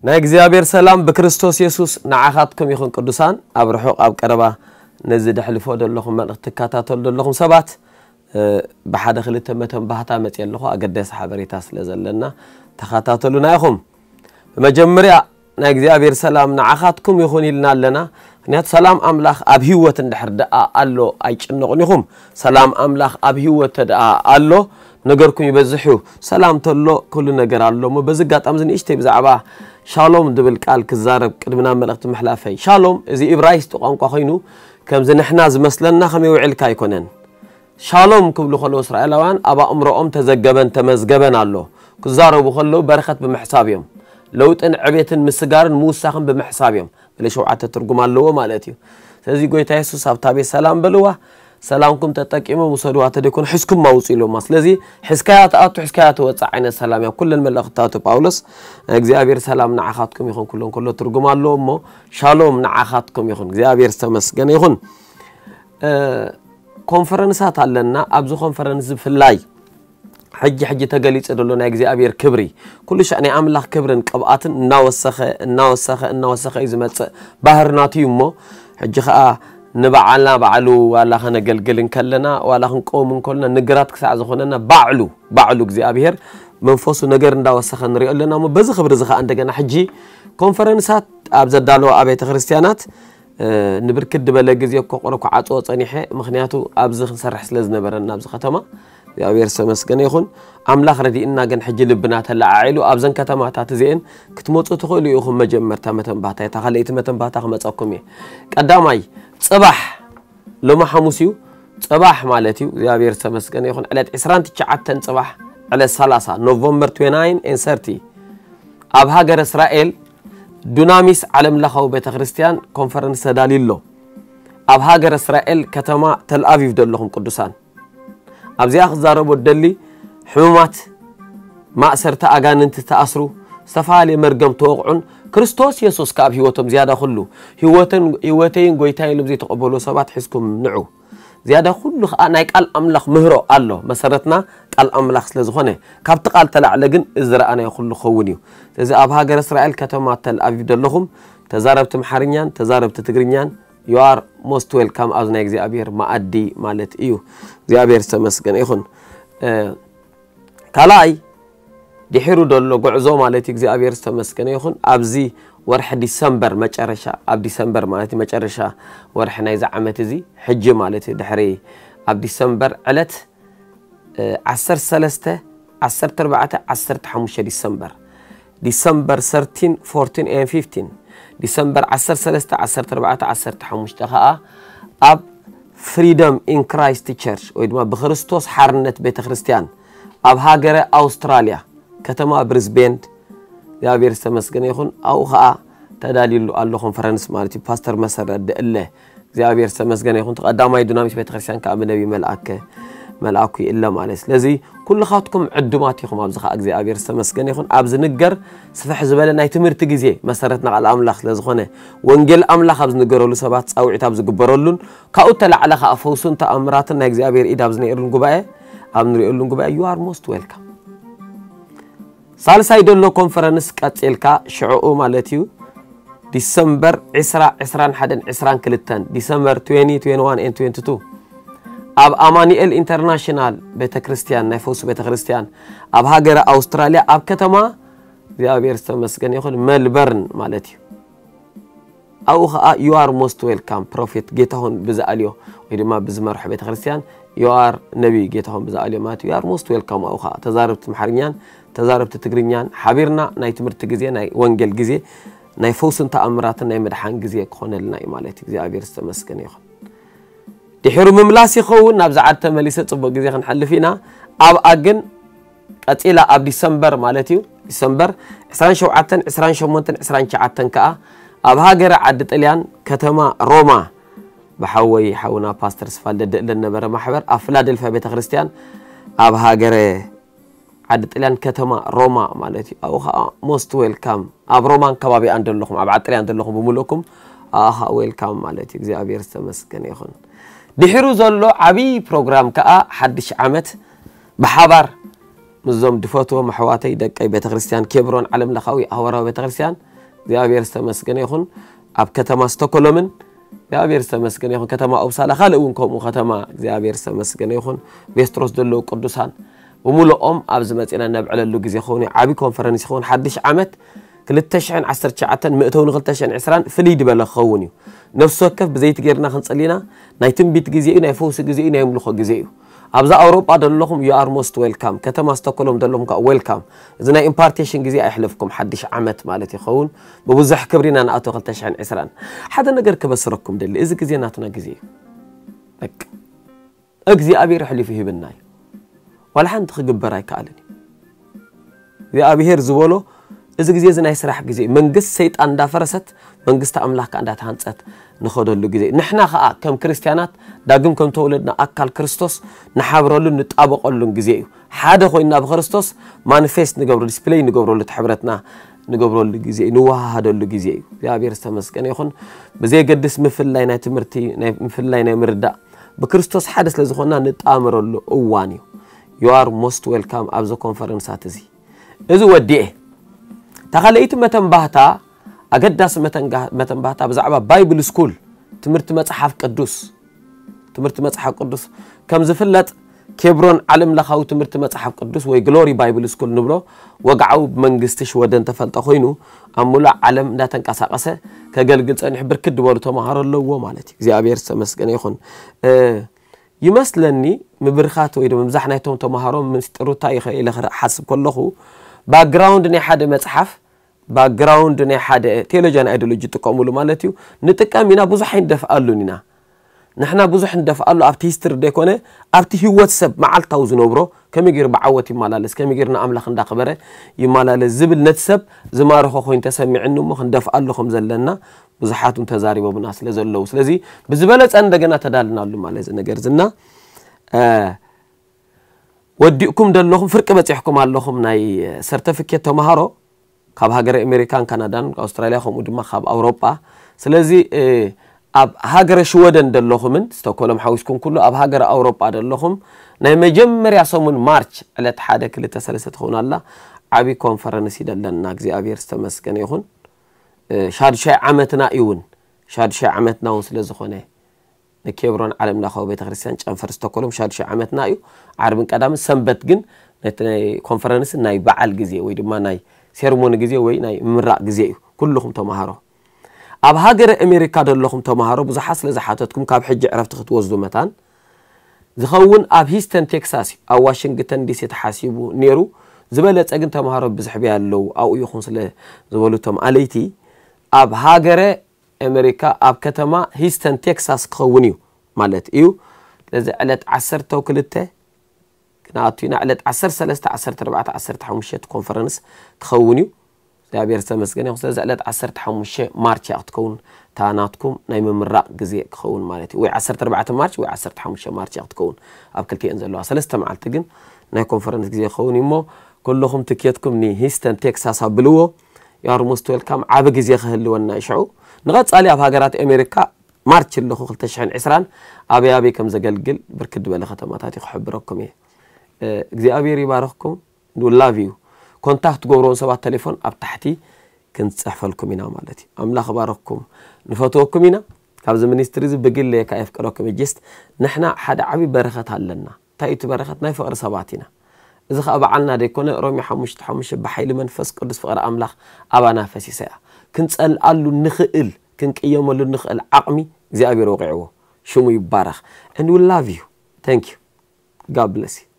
ናይ እግዚኣብሔር ሰላም ብክርስቶስ የሱስ ንዓኻትኩም ይኹን። ቅዱሳን፣ ኣብ ርሑቕ ኣብ ቀረባ ነዚ ደሕልፎ ዘለኹም መልእኽቲ ትከታተሉ ዘለኹም ሰባት፣ እ፣ ብሓደ ክልተ መተንባህታ መፅየ ኣለኹ፣ ኣገዳሲ ሓበሬታ ስለ ዘለና ተኸታተሉና ኢኹም። ብመጀመርያ ናይ እግዚኣብሔር ሰላም ንዓኻትኩም ይኹን ኢልና ኣለና። ምኽንያቱ ሰላም ኣምላኽ ኣብ ህይወት እንድሕር ደኣ ኣሎ ኣይጭነቑን ኢኹም። ሰላም ኣምላኽ ኣብ ህይወት ተደኣ ኣሎ ነገርኩም ይበዝሕ እዩ። ሰላም ተሎ ኩሉ ነገር ኣሎ እሞ በዚ ኣጋጣሚ እዚ ንእሽተይ ብዛዕባ ሻሎም ዝብል ቃል ክዛረብ ቅድሚ ናብ መልእኽቲ ምሕላፈይ። ሻሎም እዚ እብራይስጢ ቋንቋ ኮይኑ ከምዚ ንሕና ዝመስለና ከመይ ውዒልካ ኣይኮነን። ሻሎም ክብሉ ከለዉ እስራኤላውያን ኣብ ኣእምሮኦም ተዘገበን ተመዝገበን ኣሎ። ክዛረቡ ከለዉ በረኸት ብምሕሳብ እዮም። ለውጥን ዕቤትን ምስጋርን ምውሳኽን ብምሕሳብ እዮም። ገለ ሸውዓተ ትርጉም ኣለዎ ማለት እዩ። ስለዚ ጎይታ የሱስ ኣብታ ቤት ሰላም በልዋ፣ ሰላምኩም ተጠቂሞም ውሰድዋ፣ ተደይኮነ ሒዝኩም ኣውፅኡ ኢሎማ። ስለዚ ሒዝካያ ትኣቱ፣ ሒዝካያ ትወፅእ ዓይነት ሰላም እያ። ኩለን መልእኽትታቱ ጳውሎስ ናይ እግዚኣብሔር ሰላም ንዓኻትኩም ይኹን ኩለን ከሎ ትርጉም ኣለዎ እሞ ሻሎም ንዓኻትኩም ይኹን። እግዚኣብሔር ዝተመስገነ ይኹን። እ፣ ኮንፈረንሳት ኣለና። ኣብዚ ኮንፈረንስ ብፍላይ ሕጂ ሕጂ ተገሊጹ ዘሎ ናይ እግዚኣብሔር ክብሪ፣ ኩሉ ሻዕ ናይ ኣምላኽ ክብርን ቅብኣትን እናወሰኸ፣ እናወሰኸ፣ እናወሰኸ እዩ ዝመጽእ። ባህሪ ናቱ እዩ እሞ፣ ሕጂ ኸኣ ንበዓልና ባዕሉ ዋላ ኸነገልግል እንከለና፣ ዋላ ክንቀውም እንከለና፣ ንግራት ክሳዕ ዝኾነና ባዕሉ፣ ባዕሉ እግዚኣብሔር መንፈሱ ነገር እንዳወሰኸ ንሪኦ ኣለና እሞ፣ በዚ ክብሪ እዚ ኸኣ እንደገና ሕጂ ኮንፈረንሳት ኣብ ዘዳለዋ ኣብያተ ክርስቲያናት እ፣ ንብርክት ዝበለ ግዜ እኮ ቆረ ክዓጽዎ ጸኒሐ፣ ምኽንያቱ ኣብዚ ክንሰርሕ ስለ ዝነበረና ኣብዚ ከተማ። እግዚኣብሔር ዝተመስገነ ይኹን። ኣምላኽ ረዲእና ግን ሕጂ ልብና ተለዓዒሉ ኣብዘን ከተማታት እዚኤን ክትመጹ ትኽእሉ ኢኹም። መጀመርታ መተንባህታ፣ እታ ካልኣይቲ መተንባህታ ክመጸኩም እየ። ቀዳማይ፣ ጽባሕ፣ ሎሚ ሓሙስ እዩ። ጽባሕ ማለት እዩ። እግዚኣብሔር ዝተመስገነ ይኹን። ዕለት ዕስራን ትሽዓተን ጽባሕ፣ ዕለት ሰላሳ፣ ኖቨምበር ትዌንቲ ናይን ኤንድ ሰርቲ፣ ኣብ ሃገረ እስራኤል ዱናሚስ ዓለም ለኻዊ ቤተ ክርስቲያን ኮንፈረንስ ተዳልዩ ኣሎ። ኣብ ሃገረ እስራኤል ከተማ ተልኣቪቭ ዘለኹም ቅዱሳን፣ ኣብዚኣ ክዛረቦ ደሊ፣ ሕሙማት፣ ማእሰርቲ ኣጋንንቲ ተኣስሩ፣ ዝተፈላለየ መርገም ተወቕዑን ክርስቶስ የሱስ ከኣ ኣብ ህይወቶም ዝያዳ ኩሉ ህይወትን፣ ህይወተይን ጎይታየ ኢሎም ዘይተቐበሉ ሰባት ሒዝኩም ንዑ። ዝያዳ ኩሉ ኸኣ ናይ ቃል ኣምላኽ ምህሮ ኣሎ። መሰረትና ቃል ኣምላኽ ስለ ዝኾነ፣ ካብቲ ቃል ተላዕለ ግን እዚ ዝረኣናዮ ኩሉ ክኸውን እዩ። ስለዚ ኣብ ሃገረ እስራኤል ከተማ ተል ኣቪቭ ዘለኹም ተዛረብቲ ኣምሓርኛን ተዛረብቲ ትግርኛን፣ you are most welcome ኣብዚ ናይ እግዚኣብሔር መኣዲ ማለት እዩ። እግዚኣብሔር ዝተመስገነ ይኹን። እ፣ ካልኣይ ድሒሩ ዘሎ ጉዕዞ ማለት እዩ። እግዚኣብሔር ዝተመስገነ ይኹን። ኣብዚ ወርሒ ዲሰምበር መጨረሻ፣ ኣብ ዲሰምበር ማለት እዩ መጨረሻ ወርሒ ናይዚ ዓመት እዚ፣ ሕጂ ማለት እዩ፣ ድሕሪ ኣብ ዲሰምበር ዕለት፣ እ፣ ዓሰርተ ሰለስተ፣ ዓሰርተ ኣርባዕተ፣ ዓሰርተ ሓሙሽተ ዲሰምበር፣ ዲሰምበር ሰርቲን፣ ፎርቲን ኤንድ ፊፍቲን፣ ዲሰምበር ዓሰርተ ሰለስተ፣ ዓሰርተ ኣርባዕተ፣ ዓሰርተ ሓሙሽተ ኸኣ ኣብ ፍሪደም ኢን ክራይስት ቸርች ወይ ድማ ብክርስቶስ ሓርነት ቤተ ክርስቲያን ኣብ ሃገረ ኣውስትራልያ ከተማ ብሪዝቤን፣ እግዚኣብሔር ዝተመስገነ ይኹን፣ ኣብኡ ኸኣ ተዳልዩሉ ኣሎ ኮንፈረንስ ማለት እዩ። ፓስተር መሰረት ደእለ፣ እግዚኣብሔር ዝተመስገነ ይኹን፣ እቲ ቀዳማይ ዱናሚት ቤተክርስትያን ከኣ ብነቢይ መልኣከ፣ መልኣኩ ይእለ ማለት። ስለዚ ኩልኻትኩም ዕዱማት ኢኹም፣ ኣብዚ ኸኣ እግዚኣብሔር ዝተመስገነ ይኹን። ኣብ ዝንገር ስፍሕ ዝበለ ናይ ትምህርቲ ግዜ መሰረትና ቃል ኣምላኽ ስለ ዝኾነ፣ ወንጌል ኣምላኽ ኣብ ዝንገረሉ፣ ሰባት ጻውዒት ኣብ ዝግበረሉን ካብኡ ተላዕለ ኸኣ ፈውሱን ተኣምራትን ናይ እግዚኣብሔር ኢድ ኣብ ዝነኤሩን ጉባኤ፣ ኣብ ንሪኤሉን ጉባኤ፣ you are most welcome። ሳልሳይ ደሎ ኮንፈረንስ ቀጺልካ ሽዕኡ ማለት እዩ፣ ዲሰምበር ዕስራ፣ ዕስራን ሓደን፣ ዕስራን ክልተን፣ ዲሰምበር ትዌንቲ፣ ትዌንቲ ዋን ኤንድ ትዌንቲ ቱ፣ ኣብ ኣማኑኤል ኢንተርናሽናል ቤተ ክርስቲያን፣ ናይ ፈውሲ ቤተ ክርስቲያን፣ ኣብ ሃገረ ኣውስትራልያ፣ ኣብ ከተማ እግዚኣብሔር ዝተመስገነ ይኹን፣ ሜልበርን ማለት እዩ። ኣብኡ ኸዓ you are most welcome፣ ፕሮፌት ጌታሁን ብዝኣልዮ ወይ ድማ ብዝመርሖ ቤተ ክርስቲያን፣ you are ነቢይ ጌታሁን ብዝኣልዮ ማለት እዩ። You are most welcome። ኣብኡ ኸዓ ተዛረብቲ ኣምሓርኛን ተዛረብቲ ትግርኛን ሓቢርና ናይ ትምህርቲ ግዜ፣ ናይ ወንጌል ግዜ፣ ናይ ፈውስን ተኣምራትን ናይ ምድሓን ግዜ ክኾነልና እዩ ማለት እዩ። እግዚኣብሔር ዝተመስገነ ይኹን። ድሒሩ ምምላስ ይኸውን፣ ናብዚ ዓዲ ተመሊሰ ጽቡቕ ግዜ ክንሓልፍ ኢና። ኣብኣ ግን ቀጺላ ኣብ ዲሰምበር ማለት እዩ፣ ዲሰምበር ዕስራን ሸውዓተን፣ ዕስራን ሸሞንተን፣ ዕስራን ትሽዓተን ከኣ ኣብ ሃገረ ዓዲ ጥልያን ከተማ ሮማ ብሓወይ ሓውና ፓስተር ስፋልደ ደእለ ነበረ ማሕበር ኣብ ፊላደልፊያ ቤተ ክርስቲያን ኣብ ሃገረ ዓዲ ጥልያን ከተማ ሮማ ማለት እዩ። ኣብኡ ኸዓ most welcome፣ ኣብ ሮማን ከባቢኣን ዘለኹም፣ ኣብ ዓዲ ጥልያን ዘለኹም ብምልእኩም ኣብኣ ኸዓ welcome ማለት እዩ። እግዚኣብሔር ዝተመስገነ ይኹን። ድሒሩ ዘሎ ዓብዪ ፕሮግራም ከኣ ሓድሽ ዓመት ብሓባር ምስዞም ድፈትዎም ኣሕዋተይ ደቀይ ቤተ ክርስቲያን ኬብሮን ዓለም ለኻዊ ኣህዋርያዊ ቤተ ክርስቲያን እግዚኣብሔር ዝተመስገነ ይኹን። ኣብ ከተማ ስቶኮሎምን እግዚኣብሔር ዝተመስገነ ይኹን። ከተማ ኦፕሳላ፣ ካልእ እውን ከምኡ ከተማ እግዚኣብሔር ዝተመስገነ ይኹን። ቬስትሮስ ዘለዉ ቅዱሳን ብምልኦም ኣብዚ መጺና ነብዕለሉ ግዜ ክኸውን እዩ። ዓቢ ኮንፈረንስ ይኸውን። ሓድሽ ዓመት ክልተ ሽሕን ዓሰርተ ትሽዓተን መእተዊ ን ክልተ ሽሕን ዕስራን ፍልይ ዝበለ ክኸውን እዩ። ነፍሲ ወከፍ ብዘይቲ ጌርና ክንጽሊና፣ ናይ ትንቢት ግዜ እዩ፣ ናይ ፈውሲ ግዜ እዩ፣ ናይ ኣምልኾ ግዜ እዩ። ኣብዛ ኣውሮጳ ዘለኹም you are most welcome። ከተማ ስቶኮሎም ዘለኹም ከዓ welcome። እዚ ናይ ኢምፓርቴሽን ግዜ ኣይሕለፍኩም፣ ሓድሽ ዓመት ማለት ይኸውን። ብብዙሕ ክብሪ ኢና ንኣቶ ክልተ ሽሕን ዕስራን። ሓደ ነገር ክበስረኩም ደሊ፣ እዚ ግዜ ናትና ግዜ እዩ። በቃ እግዚኣብሔር ኣሕሊፉ ሂብና እዩ። ዋላ ሓንቲ ክግበር ኣይከኣልን እዩ። እግዚኣብሔር ዝበሎ፣ እዚ ግዜ እዚ ናይ ስራሕ ግዜ፣ መንግስት ሰይጣን እንዳፈረሰት መንግስቲ ኣምላኽ ከኣ እንዳተሃንጸት ንኸደሉ ግዜ። ንሕና ከኣ ከም ክርስትያናት ዳግም ከም ተወለድና ኣካል ክርስቶስ ንሓብረሉን ንጣበቐሉን ግዜ እዩ። ሓደ ኮይንና ብክርስቶስ ማኒፌስት ንገብሮ፣ ዲስፕሌይ ንገብረሉ፣ እቲ ሕብረትና ንገብረሉ ግዜ እዩ፣ ንወሃሃደሉ ግዜ እዩ። እግዚኣብሔር ዝተመስገነ ይኹን። ብዘየገድስ ምፍላይ ናይ ትምህርቲ፣ ናይ ምፍላይ ናይ ምርዳእ፣ ብክርስቶስ ሓደ ስለ ዝኾንና ንጣመረሉ እዋን እዩ። You are most welcome ኣብዚ ኮንፈረንሳት እዚ። እዚ ወዲኤ እታ ካልኣይቲ መተንባህታ፣ ኣገዳሲ መተንጋ-፣ መተንባህታ ብዛዕባ ባይብል ስኩል፣ ትምህርቲ መጽሓፍ ቅዱስ፣ ትምህርቲ መጽሓፍ ቅዱስ ከም ዝፍለጥ ኬብሮን ዓለም ለኻዊ ትምህርቲ መጽሓፍ ቅዱስ ወይ ግሎሪ ባይብል ስኩል ንብሎ ወግዓዊ ብመንግስቲ ሽወደን ተፈልጠ ኮይኑ ኣብ ሙሉእ ዓለም እንዳተንቀሳቐሰ ከገልግል ጸኒሑ ብርክት ዝበሉ ተማሃሮ ኣለዎ ማለት እዩ። እግዚኣብሔር ዝተመስገነ ይኹን። እ፣ ይመስለኒ ምብርኻት ወይ ድማ ምብዛሕ ናይቶም ተማሃሮ ምስጢሩ እንታይ እዩ ኢለ ክሓስብ ከለኹ ባክግራውንድ ናይ ሓደ መጽሓፍ፣ ባክግራውንድ ናይ ሓደ ቴዎሎጂያን ኣይዲዮሎጂ ይጥቀሙሉ ማለት እዩ። ንጥቀም ኢና፣ ብዙሕ ኣይንደፍኣሉን ኢና። ንሕና ብዙሕ ንደፍኣሉ ኣብቲ ሂስትሪ ዘይኮነ ኣብቲ ህይወት ሰብ መዓልታዊ ዝነብሮ ከመይ ገይሩ ብዓወት ይመላለስ፣ ከመይ ገይሩ ንኣምላኽ እንዳኸበረ ይመላለስ ዝብል ነቲ ሰብ ዝማርኾ ኮይኑ ተሰሚዕኒ እሞ ክንደፍኣሉ ከም ዘለና ብዙሓት እውን ተዛሪቦምና ስለ ዘለዉ። ስለዚ ብዝበለጸ እንደገና ተዳልናሉ ማለት እዚ ነገር ዝና፣ እ፣ ወዲእኩም ደለኹም፣ ፍርቂ በጺሕኩም ኣለኹም ናይ ሰርተፊኬት ተማሃሮ ካብ ሃገረ ኣሜሪካን ካናዳን ኣውስትራልያ ከምኡ ድማ ካብ ኣውሮጳ። ስለዚ፣ እ፣ ኣብ ሃገረ ሽወደን ደለኹምን ስቶኮሎም ሓዊስኩም ኩሉ ኣብ ሃገረ ኣውሮጳ ደለኹም ናይ መጀመርያ ሰሙን ማርች ዕለት ሓደ ክልተ ሰለስተ ትኸውን ኣላ። ዓቢ ኮንፈረንስ ይደለና። እግዚኣብሔር ዝተመስገነ ይኹን። እ፣ ሻዱሻይ ዓመትና እዩ እውን። ሻዱሻይ ዓመትና እውን ስለ ዝኾነ ንኬብሮን ዓለም ለኻዊ ቤተክርስትያን ጨንፈር ስቶኮሎም ሻዱሻይ ዓመትና እዩ። ዓርብን ቀዳምን ሰንበት ግን ነቲ ናይ ኮንፈረንስ ናይ በዓል ግዜ ወይ ድማ ናይ ሴርሞኒ ግዜ ወይ ናይ ምምራቕ ግዜ እዩ። ኩልኹም ተማሃሮ፣ ኣብ ሃገረ ኣሜሪካ ዘለኹም ተማሃሮ ብዙሓት ስለ ዝሓተትኩም ካብ ሕጂ ዕረፍቲ ክትወስዱ መታን ዝኸውን ኣብ ሂስተን ቴክሳስ እዩ። ኣብ ዋሽንግተን ዲሲ ተሓሲቡ ነይሩ። ዝበለጸ ግን ተማሃሮ ብዝሕብያ ኣለዉ ኣብኡ ይኹን ስለ ዝበሉ እቶም ኣለይቲ ኣብ ሃገረ ኣሜሪካ ኣብ ከተማ ሂስተን ቴክሳስ ክኸውን እዩ ማለት እዩ። ስለዚ ዕለት ዓሰርተ ክልተ ክንኣቱ ኢና። ዕለት ዓሰርተ ሰለስተ፣ ዓሰርተ ኣርባዕተ፣ ዓሰርተ ሓሙሽተ ኮንፈረንስ ክኸውን እዩ። እግዚኣብሔር ዝተመስገነ ይኹን። ስለዚ ዕለት ዓሰርተ ሓሙሽተ ማርች እያ ክትከውን፣ እታ ናትኩም ናይ ምምራቕ ግዜ ክኸውን ማለት እዩ። ወይ ዓሰርተ ኣርባዕተ ማርች ወይ ዓሰርተ ሓሙሽተ ማርች እያ ክትከውን። ኣብ ክልቲኤን ዘለዋ ሰለስተ መዓልቲ ግን ናይ ኮንፈረንስ ግዜ ክኸውን እዩ እሞ፣ ኩልኹም ትኬትኩም ንሂስተን ቴክሳስ ኣብልዎ። You are most welcome። ዓቢ ግዜ ክህልወና እዩ ሽዑ። ንቐጻሊ ኣብ ሃገራት ኣሜሪካ ማርች ኣለኹ ክልተ ሽሕን ዕስራን ኣበይ ኣበይ ከም ዘገልግል ብርክት ዝበለ ከተማታት እዩ ክሕብረኩም እየ። እ፣ እግዚኣብሔር ይባረኽኩም። We love you። ኮንታክት ትገብርዎም ሰባት ቴሌፎን ኣብ ታሕቲ ክንጽሕፈልኩም ኢና ማለት እዩ። ኣምላኽ ይባረኽኩም። ንፈትወኩም ኢና። ካብዚ ሚኒስትሪ እዚ ብግለየ ከኣ የፍቅረኩም እየ። ጀስት ንሕና ሓደ ዓቢ በረኸት ኣለና። እንታይ እዩ እቲ በረኸት? ናይ ፍቕሪ ሰባት ኢና። እዚ ኸኣ በዓልና ደይኮነ፣ ሮሜ ሓሙሽተ ሓሙሽተ ብሓይሊ መንፈስ ቅዱስ ፍቕሪ ኣምላኽ ኣባና ፈሲሳ እያ። ክንጸልኣሉ ንኽእል፣ ክንቅየመሉ ንኽእል ዓቕሚ እግዚኣብሔር ወቒዕዎ። ሽሙ ይባረኽ። And we love you. Thank you. God bless you.